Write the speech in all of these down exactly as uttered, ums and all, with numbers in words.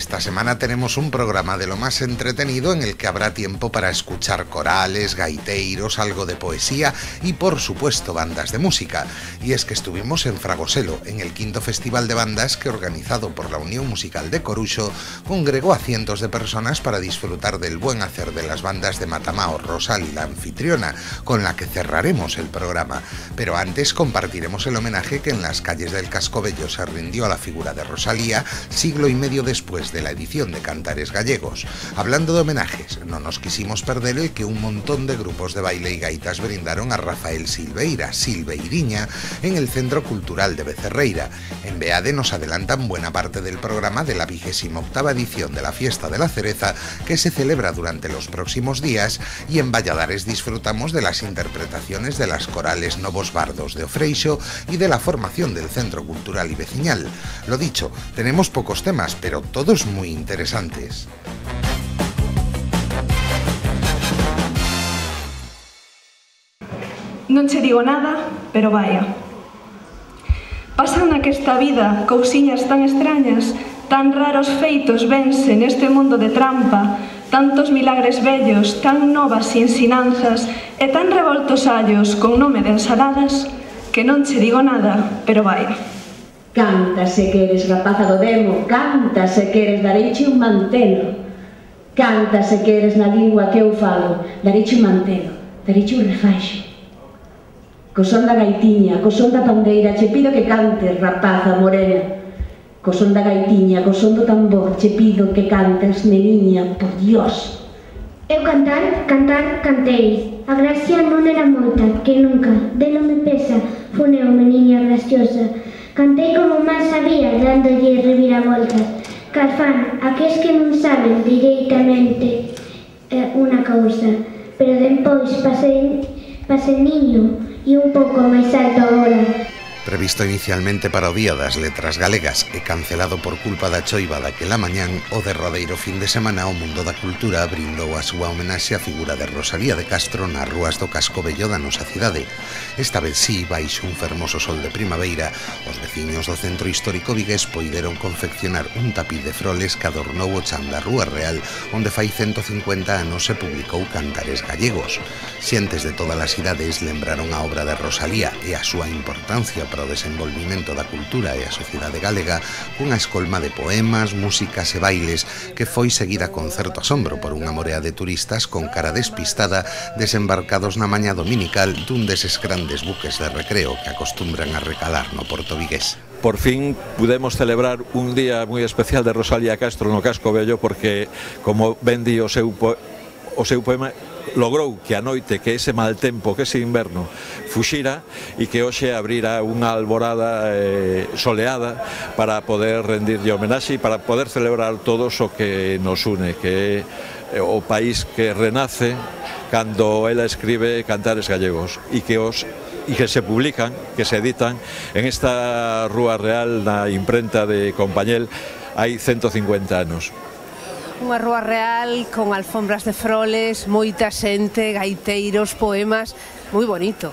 Esta semana tenemos un programa de lo más entretenido en el que habrá tiempo para escuchar corales, gaiteiros, algo de poesía y por supuesto bandas de música. Y es que estuvimos en Fragoselo, en el quinto festival de bandas que, organizado por la Unión Musical de Coruxo, congregó a cientos de personas para disfrutar del buen hacer de las bandas de Matamao, Rosal y la anfitriona, con la que cerraremos el programa. Pero antes compartiremos el homenaje que en las calles del Cascobello se rindió a la figura de Rosalía, siglo y medio después de la edición de Cantares Gallegos. Hablando de homenajes, no nos quisimos perder el que un montón de grupos de baile y gaitas brindaron a Rafael Silveira, Silveiriña, en el Centro Cultural de Becerreira. En Beade nos adelantan buena parte del programa de la vigésima octava edición de la Fiesta de la Cereza, que se celebra durante los próximos días, y en Valladares disfrutamos de las interpretaciones de las corales Novos Bardos de Ofreixo y de la formación del Centro Cultural y Veciñal. Lo dicho, tenemos pocos temas, pero todos muy interesantes. Non che digo nada, pero vaya. Pasan naquesta vida cousiñas tan extrañas, tan raros feitos vense neste mundo de trampa, tantos milagres bellos, tan novas ensinanzas e tan revoltos allos con nome de ensaladas, que non che digo nada, pero vaya. Canta se que eres rapaza do demo, canta se que eres dareiche un mantelo, canta se que eres na lingua que eu falo, dareiche un mantelo, dareiche un refaixo. Co son da gaitiña, co son da pandeira, che pido que cantes, rapaza morena. Co son da gaitiña, co son do tambor, che pido que cantes, neniña, por Dios. Eu cantar, cantar, cantei. A gracia non era moita, que nunca, delo me pesa, funeu meniña graciosa. Cantei como máis sabía, dándolle reviravoltas. Carfán, aqueles que non saben directamente eh, unha cousa, pero depois pasei, pasei niño e un pouco máis alto agora. Previsto inicialmente para o Día das Letras Galegas e cancelado por culpa da choiva daquela mañán, o derradeiro fin de semana o mundo da cultura brindou a súa homenaxe á figura de Rosalía de Castro nas rúas do Cascobello da nosa cidade. Esta vez sí, baixo un fermoso sol de primavera, os veciños do centro histórico vigués poideron confeccionar un tapiz de froles que adornou o chan da Rúa Real, onde fai ciento cincuenta anos se publicou Cantares Gallegos. Xentes de todas as idades lembraron a obra de Rosalía e a súa importancia para o desenvolvimento da cultura e a sociedade galega cunha escolma de poemas, músicas e bailes que foi seguida con certo asombro por unha morea de turistas con cara despistada desembarcados na mañá dominical dun deses grandes buques de recreo que acostumbran a recalar no porto vigués. Por fin pudemos celebrar un día moi especial de Rosalía Castro no Cascobello porque, como ben di o seu, po o seu poema, logrou que a noite, que ese mal tempo, que ese inverno fuxira e que hoxe abrira unha alborada eh, soleada para poder rendirlle homenaxe e para poder celebrar todos o que nos une, que é o país que renace cando ela escribe Cantares Gallegos e que os e que se publican, que se editan en esta Rúa Real na imprenta de Compañel hai ciento cincuenta anos. Unha Rúa Real con alfombras de froles, moita xente, gaiteiros, poemas, moi bonito.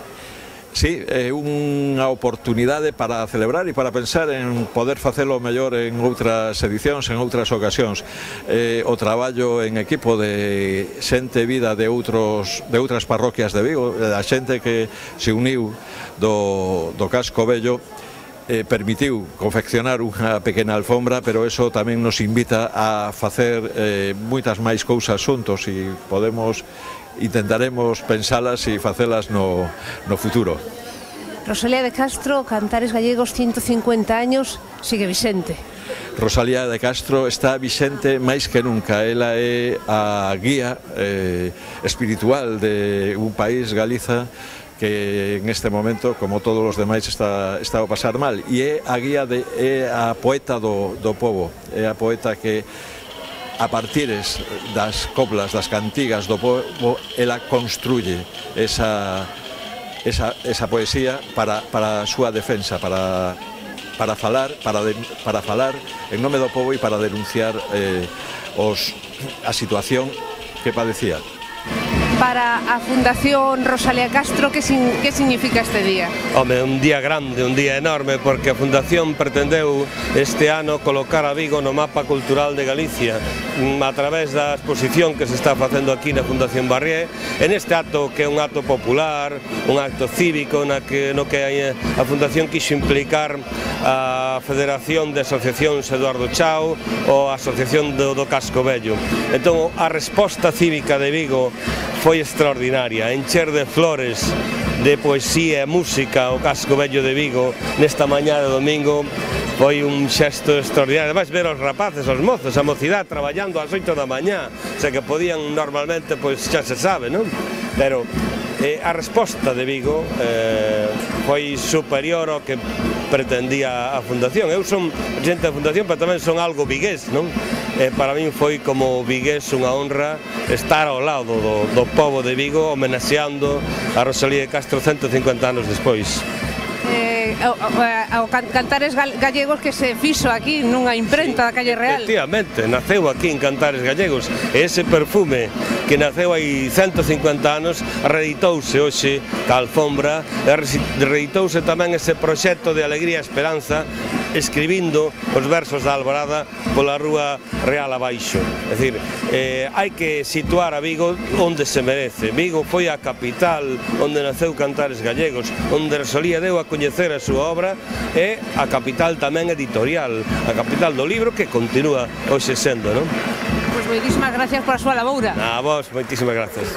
Sí, é unha oportunidade para celebrar e para pensar en poder facelo mellor en outras edicións, en outras ocasións. Eh, o traballo en equipo de xente vida de outros de outras parroquias de Vigo, a xente que se uniu do, do Cascobello, Eh, permitiu confeccionar unha pequena alfombra, pero eso tamén nos invita a facer eh, moitas máis cousas xuntos e podemos, intentaremos pensalas e facelas no, no futuro. Rosalía de Castro, Cantares Gallegos, ciento cincuenta años, sigue vixente. Rosalía de Castro está vixente máis que nunca. Ela é a guía eh, espiritual de un país, Galiza, que en este momento, como todos os demais, está, está a pasar mal, e é a guía de, é a poeta do, do povo, é a poeta que a partires das coplas, das cantigas do povo, ela construye esa, esa, esa poesía para, para a súa defensa, para, para falar, para, de, para falar en nome do povo e para denunciar eh, os, a situación que padecía. para a Fundación Rosalía Castro, que, sin, que significa este día? Home, un día grande, un día enorme, porque a Fundación pretendeu este ano colocar a Vigo no mapa cultural de Galicia a través da exposición que se está facendo aquí na Fundación Barrié, en este acto que é un acto popular, un acto cívico na que, no que a Fundación quixo implicar a Federación de Asociacións Eduardo Chao ou a Asociación do, do Casco Vello. Entón, a resposta cívica de Vigo foi extraordinaria, encher de flores, de poesía e música o Casco Vello de Vigo nesta mañá de domingo foi un xesto extraordinario. Ademais, ver os rapaces, os mozos, a mocidade traballando ás oito da mañá, xa que podían normalmente, pois xa se sabe, non? Pero eh, a resposta de Vigo eh, foi superior ao que pretendía a Fundación. Eu son presidente da Fundación, pero tamén son algo vigués, non? Eh, para min foi como vigués unha honra estar ao lado do, do pobo de Vigo homenaxeando a Rosalía de Castro cento e cincuenta anos despois. Eh, o, o, o Cantares Gallegos que se fixo aquí nunha imprenta da Calle Real. Efectivamente, naceu aquí en Cantares Gallegos e ese perfume que naceu hai cento e cincuenta anos reeditouse hoxe ca alfombra e reeditouse tamén ese proxecto de alegría e esperanza escribindo os versos da Alborada pola Rúa Real abaixo. É dicir, eh, hai que situar a Vigo onde se merece. Vigo foi a capital onde naceu Cantares Gallegos, onde Rosalía deu a coñecer a súa obra e a capital tamén editorial, a capital do libro que continúa hoxe sendo, non? Pois moitísimas gracias por a súa laboura. A vos, moitísimas gracias.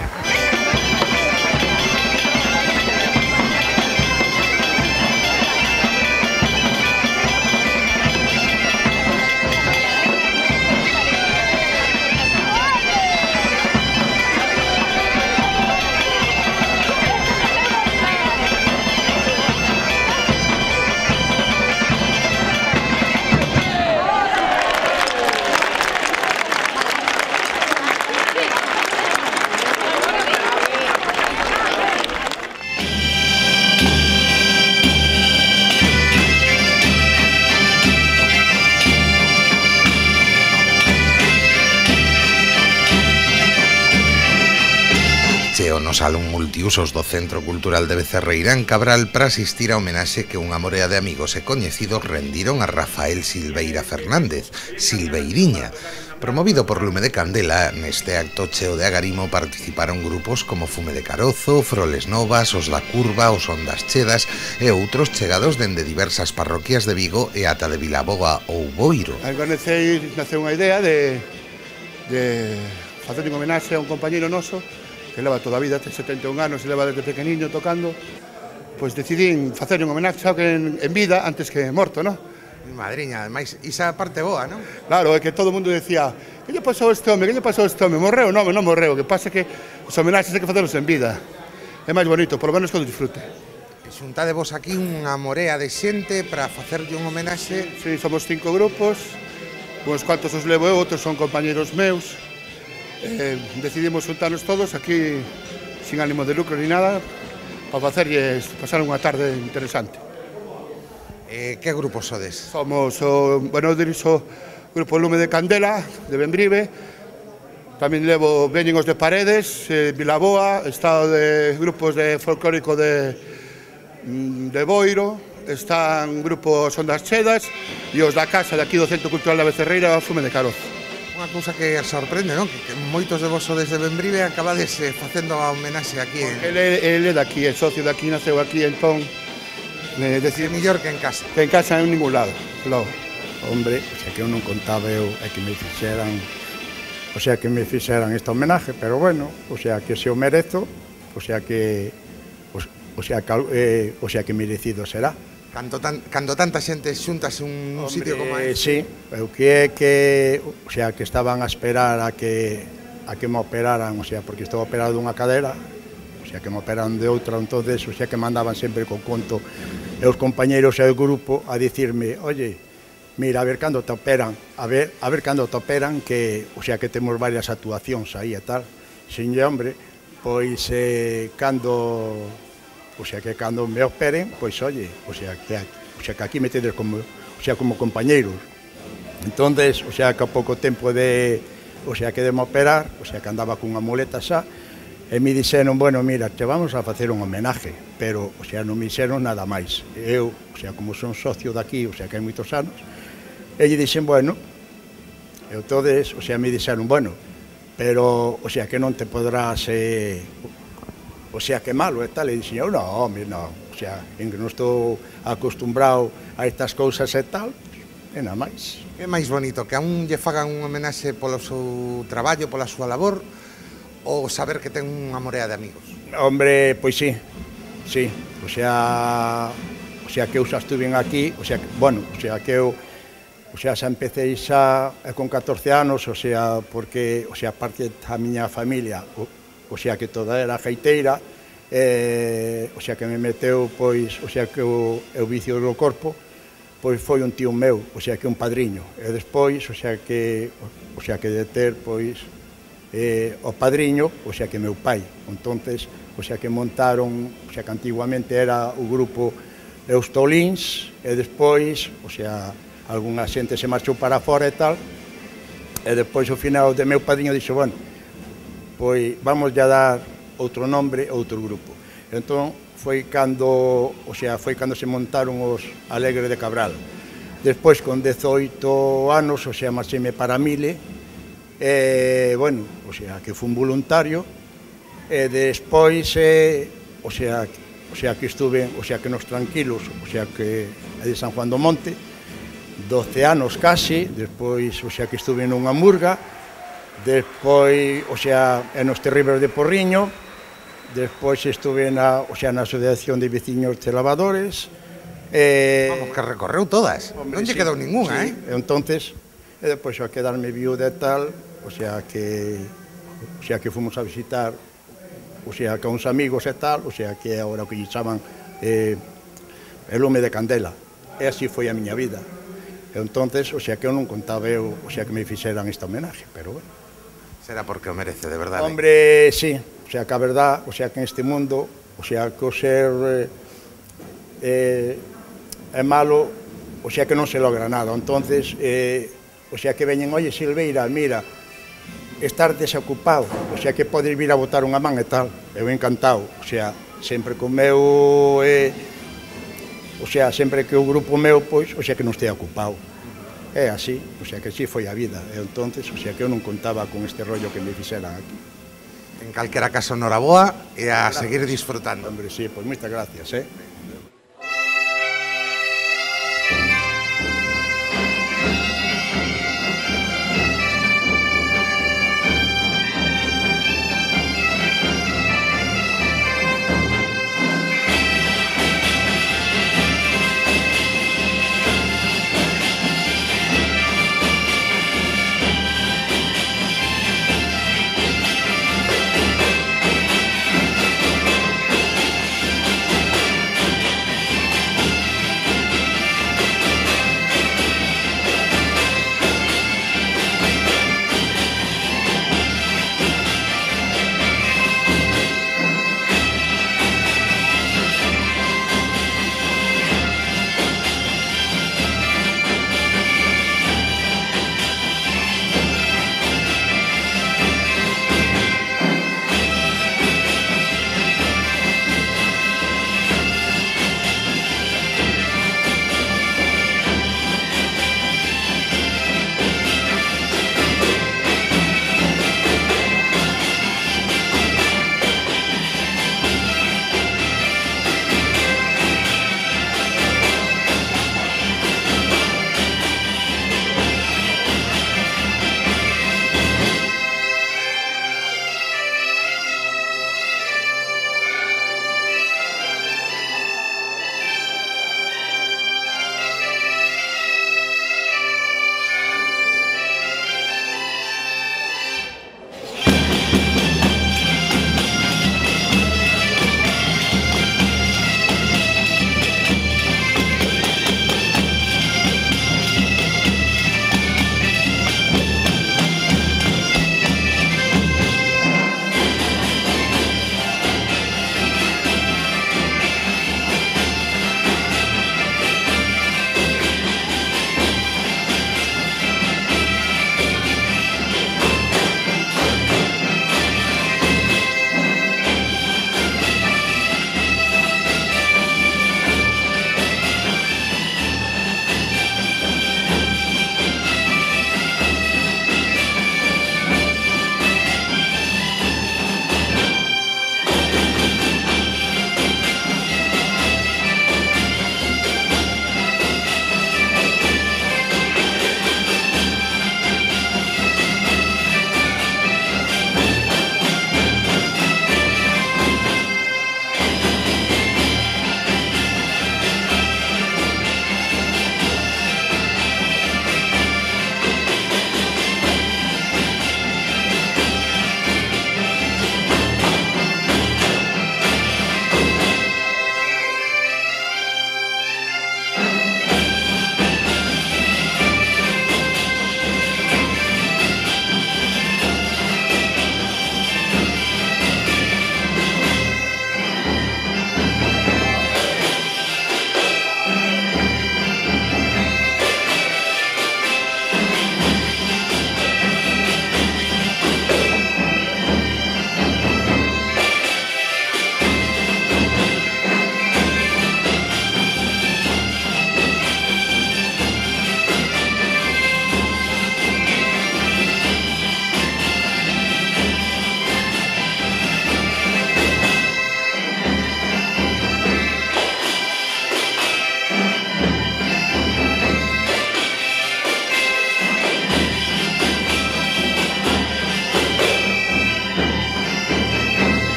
No Salón Multiusos do Centro Cultural de Becerreira en Cabral para asistir a homenaxe que unha morea de amigos e coñecidos rendiron a Rafael Silveira Fernández, Silveiriña. Promovido por Lume de Candela, neste acto cheo de agarimo participaron grupos como Fume de Carozo, Froles Novas, Os da Curva, Os Ondas Chedas e outros chegados dende diversas parroquias de Vigo e ata de Vilaboa ou Boiro. Al conocer nace unha idea de, de facer un homenaxe a un compañeiro noso que leva toda a vida, ten setenta e un anos e leva desde pequeniño tocando, pois decidín facer un homenaxe en, en vida antes que morto, non? Madriña, ademais, isa parte boa, non? Claro, é que todo o mundo decía que lle pasou este home, que lle pasou este home, morreu? Non, non morreu, que pasa que os homenaxes hai que facelos en vida. É máis bonito, polo menos que o disfrute. Xuntade vos aquí unha morea de xente para facerlle un homenaxe. Sí, somos cinco grupos, uns cuantos os levo eu, outros son compañeros meus. Eh, decidimos juntarnos todos aquí sin ánimo de lucro ni nada para facerlles pasar unha tarde interesante. Eh, que grupos sodes? Somos o, bueno, dirixo o grupo Lume de Candela de Benbrive, tamén levo Veñen os de Paredes, eh, Vilaboa, está de grupos de folclórico de, de Boiro, están grupos Ondas Chedas e os da casa de aquí do Centro Cultural da Becerreira, Fume de Carozo. Unha cousa que sorprende, non? Que, que moitos de vos desde Benbrive acabades eh, facendo a homenaxe aquí en... Ele, ele é daqui, é socio daqui, naceu aquí, entón eh, decir, mellor que en casa. Que en casa en ningún lado, logo. Hombre, o sea que eu non contaba eu é que me fixeran, o sea que me fixeran esta homenaje, pero bueno, o sea que se o merezo, o sea que o, o sea que eh, o sea que merecido será. Cando, tan, cando tanta xente xuntas un, un sitio como este. Sí, eu que é que, o sea, que estaban a esperar a que a que me operaran, o sea, porque estou operado dunha cadera, o sea, que me operaran de outra, entonces, o sea, que mandaban sempre con conto e os compañeiros e o grupo a dicirme, oye, mira, a ver cando te operan, a ver, a ver cando te operan, que, o sea, que temos varias actuacións aí e tal. Sin hombre, pois eh, cando o sea que cando me operen, pois oye, o sea que o sea que aquí me tedes como, o sea, como compañeiros. Entonces, o sea que a pouco tempo de, o sea que de me operar, o sea que andaba cunha muleta xa, E me dixeron, bueno, mira, te vamos a facer un homenaje, pero, o sea, non me dixeron nada máis. Eu, o sea, como son socio daqui, o sea, que hai moitos anos, e lle dixen, bueno, e entonces, o sea, me dixeron, bueno, pero, o sea, que non te podrás, eh, o sea, que malo e tal, e dixen, eu, non, home, non, o sea, en que non estou acostumbrado a estas cousas e tal, e nada máis. Que máis bonito, que a un lle fagan un homenaxe polo seu traballo, pola súa labor, ou saber que ten unha morea de amigos? Hombre, pois sí, sí, o sea, o sea que eu xa estuve aquí, o sea, bueno, o sea que eu, o sea, xa empecé xa con catorce anos, o sea, porque, o sea, parte da miña familia, o, o sea que toda era gaiteira, eh, o sea que me meteu, pois, o sea que o, o vicio do corpo, pois foi un tío meu, o sea que un padriño, e despois, o sea que, o sea que de ter, pois, eh, o padriño, o sea que meu pai, entonces, o sea que montaron, o sea que antiguamente era o grupo Eustolins, e despois, o sea, algunha xente se marchou para fora e tal, e despois ao final de meu padriño dixo, bueno, pois vamos a dar outro nombre a outro grupo. Entón, foi cando, o sea, foi cando se montaron os Alegre de Cabral. Despois, con dezoito anos, o sea, marcheme para Mile, e, bueno, o sea, que fui un voluntario, e despois, eh, o sea, o sea, que estuve, o sea, que nos tranquilos, o sea, que de San Juan do Monte, doce anos casi, despois, o sea, que estuve nunha murga, despois, o sea, en os Terribles de Porriño, despois estuve na, o sea, na Asociación de Veciños de Lavadores. Eh, Vamos, que recorreu todas, hombre, non lle sí, quedou ninguna, sí, eh? Entonces, e despois a quedarme viuda e tal, o sea, que, o sea, que fomos a visitar, o sea, que uns amigos e tal, o sea, que agora o que lle chaman eh, el lume de candela. E así foi a miña vida. E entonces, o sea, que eu non contaba eu, o sea, que me fixeran este homenaje, pero bueno. Será porque o merece, de verdade. Hombre, sí, o sea, que a verdad, o sea, que en este mundo, o sea, que o ser eh, eh, é malo, o sea, que non se logra nada. Entonces, eh, o sea, que veñen, oye, Silveira, mira, estar desocupado, o sea, que podes vir a botar unha man e tal, eu encantado, o sea, sempre co meu, eh, o sea, sempre que o grupo meu, pois, o sea, que non estea ocupado. É así, o sea, que así foi a vida. E entonces, o sea, que eu non contaba con este rollo que me fixeran aquí. En calquera caso, noraboa e a gracias. Seguir disfrutando. Hombre, sí, pois moitas gracias, eh.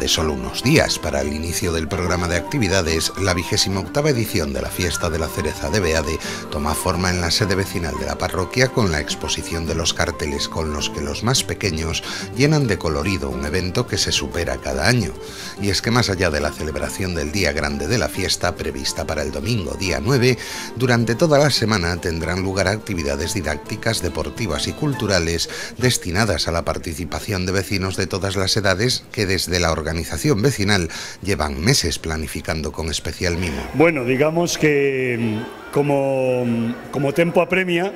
de solo unos días para el inicio del programa de actividades, la vigésima octava edición de la Fiesta de la Cereza de Beade toma forma en la sede vecinal de la parroquia con la exposición de los carteles con los que los más pequeños llenan de colorido un evento que se supera cada año. Y es que más allá de la celebración del día grande de la fiesta, prevista para el domingo día nueve, durante toda la semana tendrán lugar actividades didácticas, deportivas y culturales destinadas a la participación de vecinos de todas las edades que desde la organización vecinal llevan meses planificando con especial mimo. Bueno, digamos que como, como tempo apremia,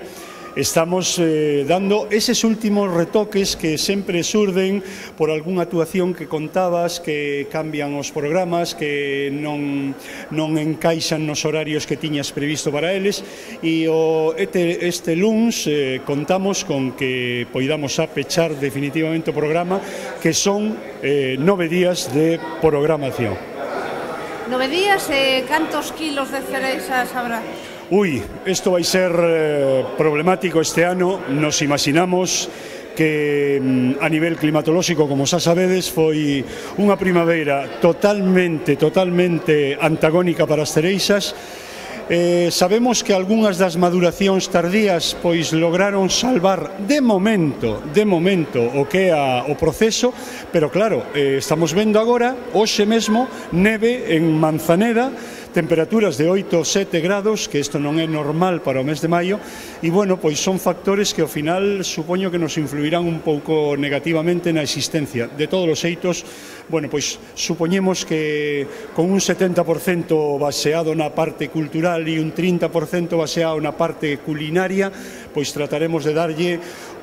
estamos eh, dando eses últimos retoques que sempre surden por algunha actuación que contabas, que cambian os programas, que non, non encaixan nos horarios que tiñas previsto para eles, e o, este, este luns eh, contamos con que poidamos a pechar definitivamente o programa, que son eh, nove días de programación. Nove días e eh, cantos kilos de cerezas habrá? Ui, isto vai ser eh, problemático este ano. Nos imaginamos que a nivel climatolóxico, como xa sabedes, foi unha primavera totalmente, totalmente antagónica para as cereixas. Eh, sabemos que algunhas das maduracións tardías pois lograron salvar de momento, de momento o que é a, o proceso, pero claro, eh, estamos vendo agora, hoxe mesmo, neve en Manzaneda, temperaturas de oito ou sete grados, que isto non é normal para o mes de maio, e, bueno, pois son factores que ao final supoño que nos influirán un pouco negativamente na existencia. De todos os xeitos, bueno, pois supoñemos que con un setenta por cento baseado na parte cultural e un trinta por cento baseado na parte culinaria, pois trataremos de darlle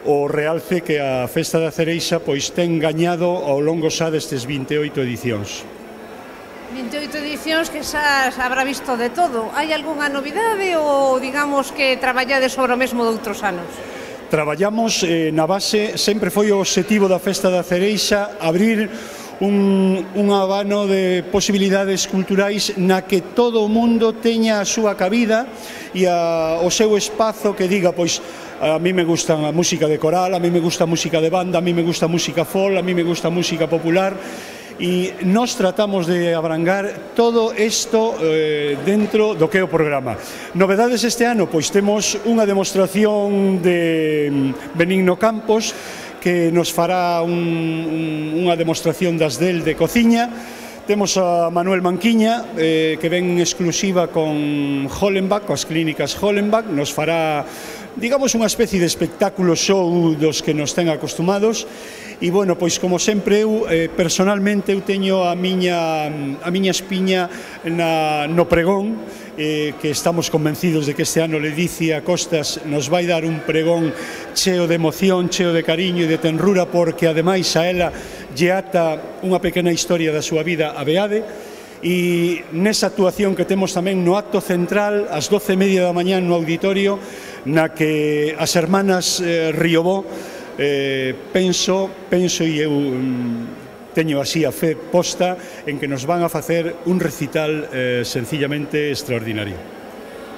o realce que a Festa da Cereixa pois ten gañado ao longo xa destes vinte e oito edicións. vinte e oito edicións que xa habrá visto de todo. Hai algunha novidade ou digamos que traballades sobre o mesmo de outros anos? Traballamos eh, na base, sempre foi o obxectivo da Festa da Cereixa abrir un, un abano de posibilidades culturais na que todo o mundo teña a súa cabida e a, o seu espazo que diga, pois, a mí me gusta a música de coral, a mí me gusta a música de banda, a mí me gusta a música folk, a mí me gusta a música popular, e nós tratamos de abrangar todo isto eh, dentro do que é o programa. Novedades este ano, pois temos unha demostración de Benigno Campos que nos fará un, un, unha demostración das del de cociña. Temos a Manuel Manquiña, eh, que ven exclusiva con Hollenbach, coas clínicas Hollenbach, nos fará, digamos, unha especie de espectáculo show dos que nos ten acostumados. E, bueno, pois, como sempre, eu, eh, personalmente, eu teño a miña, a miña espiña na, no pregón, eh, que estamos convencidos de que este ano Ledicia Costas nos vai dar un pregón cheo de emoción, cheo de cariño e de tenrura, porque, ademais, a ela lle ata unha pequena historia da súa vida a Beade, e nesa actuación que temos tamén no acto central, ás doce e media da mañá no auditorio, na que as hermanas eh, Riobó, Eh, penso, penso e eu mm, teño así a fe posta en que nos van a facer un recital eh, sencillamente extraordinario.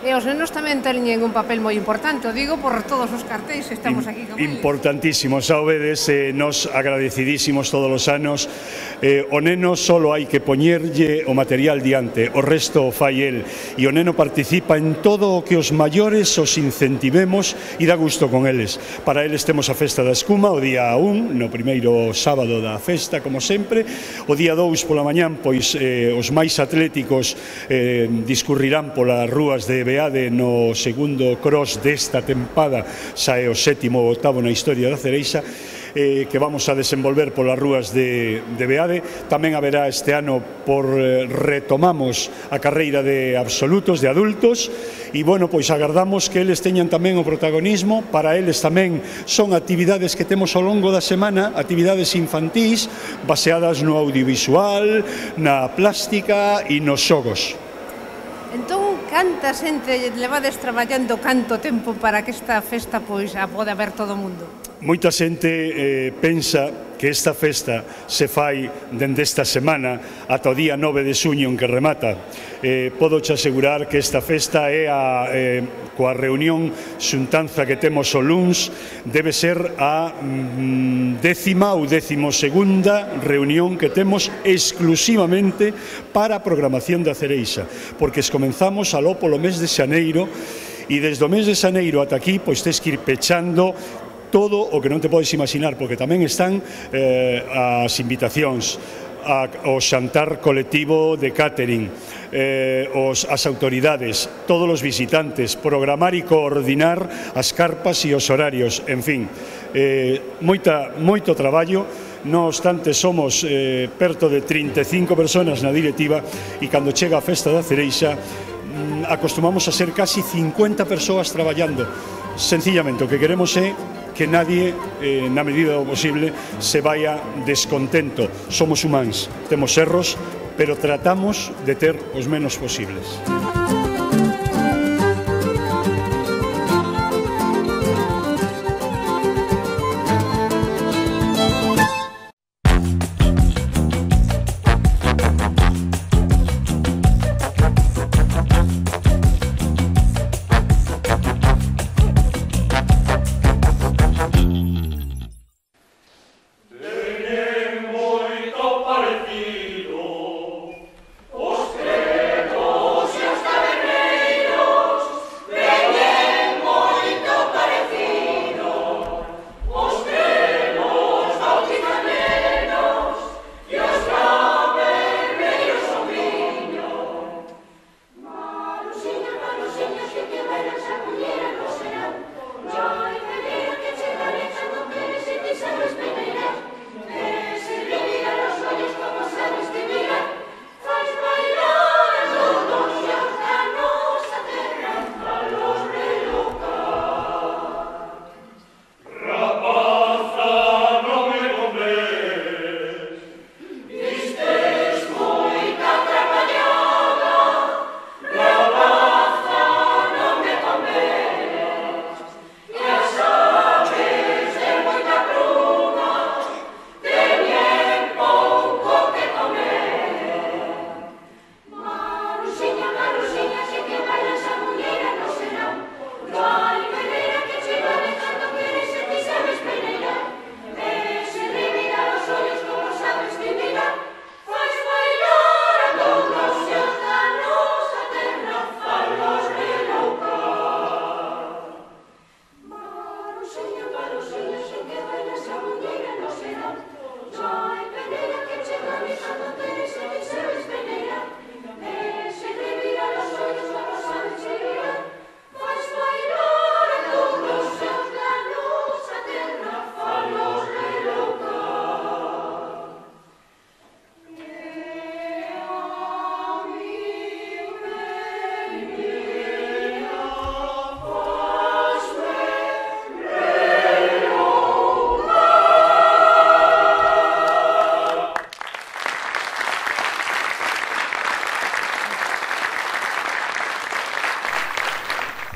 E os nenos tamén teñen un papel moi importante, o digo por todos os cartéis que estamos aquí con eles. Importantísimo, xa o vedes, eh, nos agradecidísimos todos os anos. Eh, o neno solo hai que poñerlle o material diante, o resto o fai el, e o neno participa en todo o que os maiores os incentivemos e dá gusto con eles. Para eles temos a Festa da Escuma o día un, no primeiro sábado da festa, como sempre. O día dous pola mañán, pois eh, os máis atléticos eh, discurrirán polas rúas de Beade no segundo cross desta tempada, xa é o sétimo ou octavo na historia da Cereixa, eh, que vamos a desenvolver polas rúas de, de Beade. Tamén haberá este ano, por eh, retomamos a carreira de absolutos, de adultos, e, bueno, pois agardamos que eles teñan tamén o protagonismo. Para eles tamén son actividades que temos ao longo da semana, actividades infantís, baseadas no audiovisual, na plástica e nos xogos. Entón, canta xente levades traballando canto tempo para que esta festa pois a pode ver todo o mundo? Moita xente eh, pensa que esta festa se fai dende esta semana ata o día nove de xuño en que remata. Eh, podo che asegurar que esta festa é a, eh, coa reunión xuntanza que temos o luns, debe ser a mm, décima ou décimo segunda reunión que temos exclusivamente para a programación da cereixa, porque comenzamos aló polo mes de xaneiro, e desde o mes de xaneiro ata aquí pois tes que ir pechando todo o que non te podes imaginar, porque tamén están eh, as invitacións, a, o xantar colectivo de catering, eh, os, as autoridades, todos os visitantes, programar e coordinar as carpas e os horarios, en fin, eh, moita, moito traballo. No obstante, somos eh, perto de trinta e cinco persoas na directiva, e cando chega a festa da cereixa acostumamos a ser casi cincuenta persoas traballando. Sencillamente o que queremos é que nadie, eh, na medida do posible, se vaya descontento. Somos humanos, temos erros, pero tratamos de ter os menos posibles.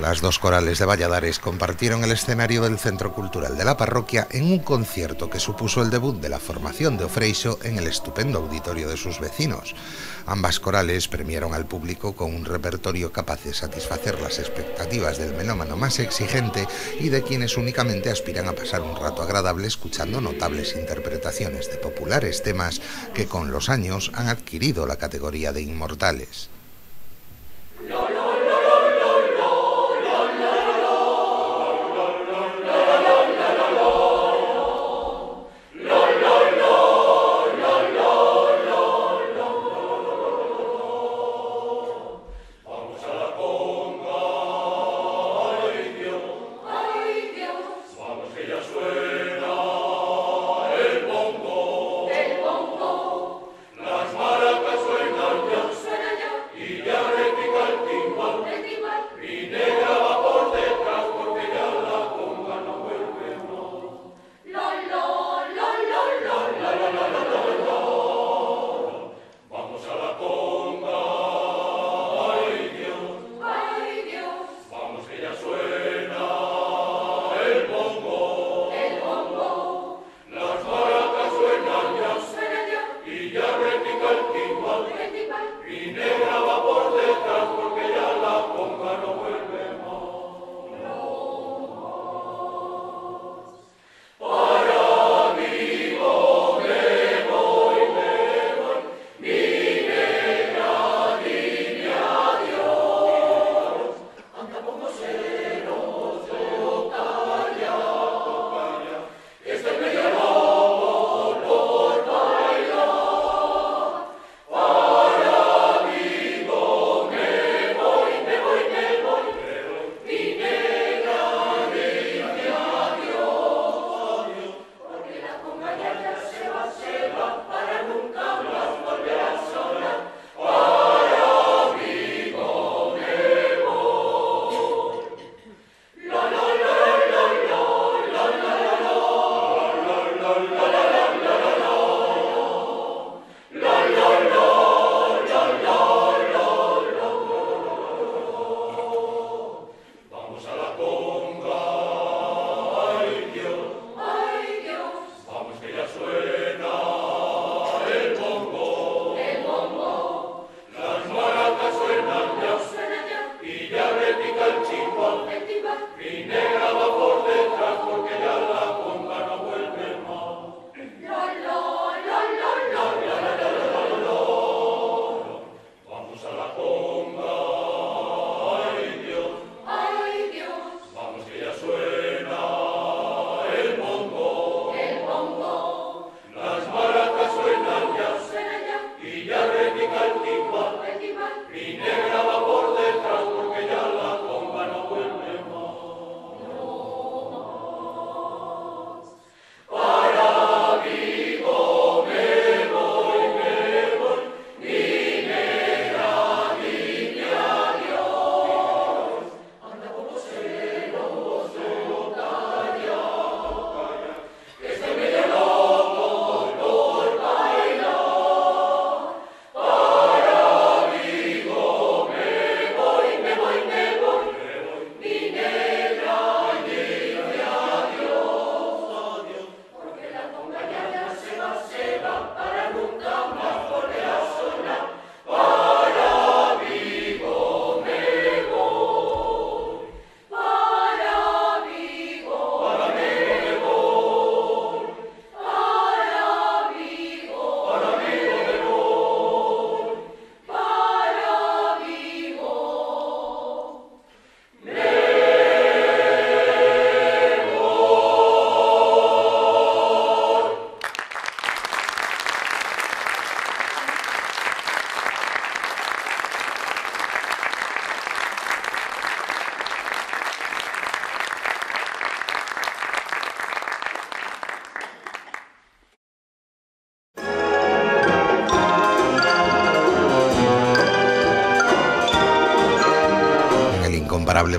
Las dos corales de Valladares compartieron el escenario del Centro Cultural de la parroquia en un concierto que supuso el debut de la formación de O Freixo en el estupendo auditorio de sus vecinos. Ambas corales premiaron al público con un repertorio capaz de satisfacer las expectativas del melómano más exigente y de quienes únicamente aspiran a pasar un rato agradable escuchando notables interpretaciones de populares temas que con los años han adquirido la categoría de inmortales.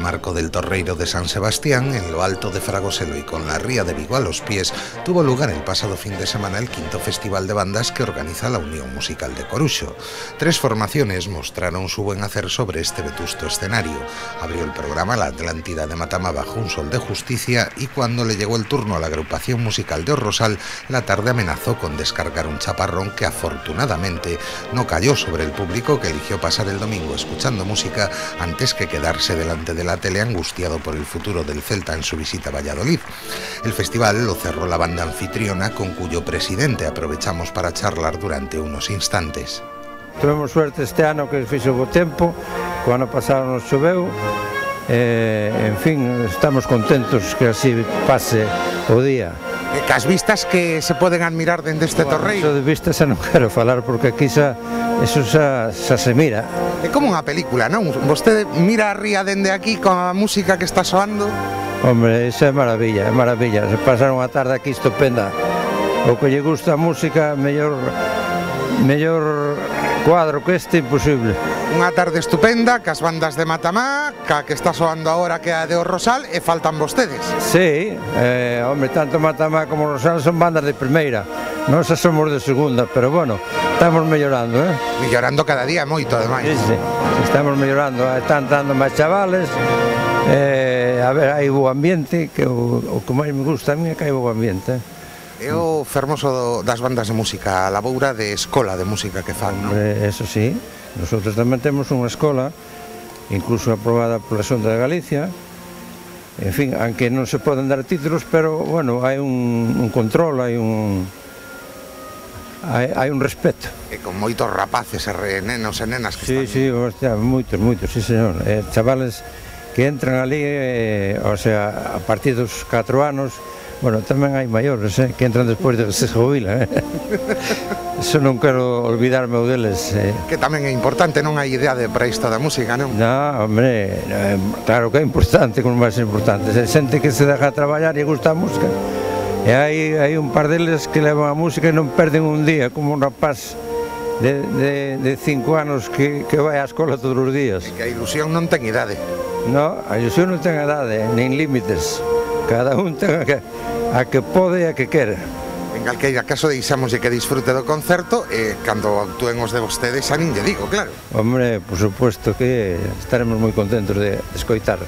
Marco del Torreiro de San Sebastián, en lo alto de Fragoselo y con la ría de Vigo a los pies, tuvo lugar el pasado fin de semana el quinto festival de bandas que organiza la Unión Musical de Coruxo. Tres formaciones mostraron su buen hacer sobre este vetusto escenario. Abrió el programa la Atlántida de Matamá bajo un sol de justicia y cuando le llegó el turno a la agrupación musical de Orrosal, la tarde amenazó con descargar un chaparrón que afortunadamente no cayó sobre el público, que eligió pasar el domingo escuchando música antes que quedarse delante de la tele angustiado por el futuro del Celta en su visita a Valladolid. El festival lo cerró la banda anfitriona, con cuyo presidente aprovechamos para charlar durante unos instantes. Tuvemos suerte este ano que fixo bo tempo, co ano pasado nos choveu, eh, en fin, estamos contentos que así pase o día. E cas vistas que se poden admirar dende este bueno, torreiro? Eso de vistas xa non quero falar porque aquí xa, eso xa, xa se mira. É como unha película, non? Vostede mira a ría dende aquí con a música que está soando. Hombre, isso é maravilla, é maravilla. Se pasar unha tarde aquí estupenda. O que lle gusta a música, mellor, mellor cuadro que este, imposible. Unha tarde estupenda, cas bandas de Matamá, ca que está soando agora que a de Orrosal, e faltan vostedes. Sí, eh, hombre, tanto Matamá como Orrosal son bandas de primeira. Nós somos de segunda, pero bueno, estamos mellorando, eh? Mellorando cada día moito, ademais. Sí, sí, estamos mellorando, están dando máis chavales, eh, a ver, hai bo ambiente, que o, o que máis me gusta a mí é que hai bo ambiente, eh? É o fermoso das bandas de música, a laboura de escola de música que fan, non? Eso sí, nosotros tamén temos unha escola, incluso aprobada pola Xunta de Galicia, en fin, aunque non se poden dar títulos, pero, bueno, hai un, un control, hai un... Hai, hai un respeto. E con moitos rapaces e nenos e nenas que sí, están... Sí, hostia, moitos, moitos, sí, señor. Eh, chavales que entran ali, eh, o sea, a partir dos catro anos. Bueno, tamén hai maiores, eh, que entran despois de que se jubilan, eh. Eso non quero olvidarme deles, eh. Que tamén é importante, non hai idea de para isto da música, non? No, hombre, eh, claro que é importante, como máis importante. Se xente que se deja traballar e gusta a música. E hai, hai un par deles que levan a música e non perden un día, como un rapaz de, de, de cinco anos que, que vai á escola todos os días. E que a ilusión non ten idade. No, a ilusión non ten idade, nin límites. Cada un ten a que, a que pode e a que quere. En calqueira caso, deixamos que disfrute do concerto e cando actúen os de vostedes, a nin lle digo, claro. Hombre, por supuesto que estaremos moi contentos de, de escoitar